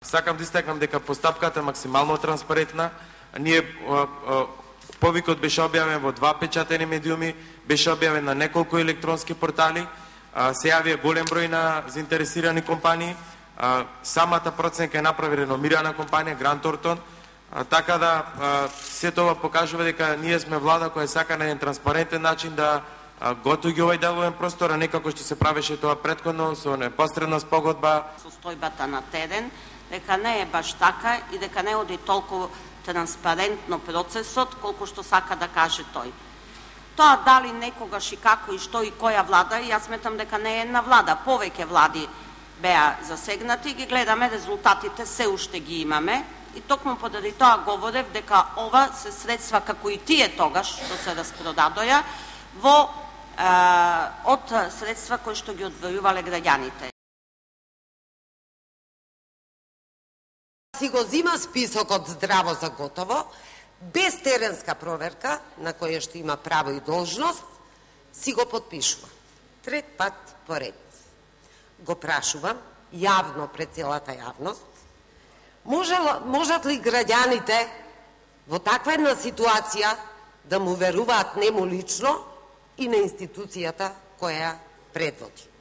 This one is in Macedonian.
Сакам да истакнам дека постапката е максимално транспарентна. Ние повикот беше објавен во 2 печатени медиуми, беше објавен на неколку електронски портали, се јавија голем број на заинтересирани компании. Самата проценка е направи реномирана компанија Грант Тортон, така да се тоа покажува дека ние сме влада која сака на еден транспарентен начин да готови овој деловен простор, а некако што се правеше тоа претходно со непосредна спогодба. Состојбата на терен, дека не е баш така и дека не оди толку транспарентно процесот, колку што сака да каже тој. Тоа дали некогаш и како и што и која влада, јас сметам дека не е една влада, повеќе влади беа засегнати, ги гледаме резултатите, се уште ги имаме и токму поради тоа говорев дека ова се средства како и тие тогаш што се распродадоја од средства кои што ги одвојувале граѓаните. Си го зима списокот здраво за готово, без теренска проверка, на која што има право и должност, си го подпишува. Трет пат поред. Го прашувам, јавно пред целата јавност, можат ли граѓаните во таква една ситуација да му веруваат нему лично и на институцијата која предводи?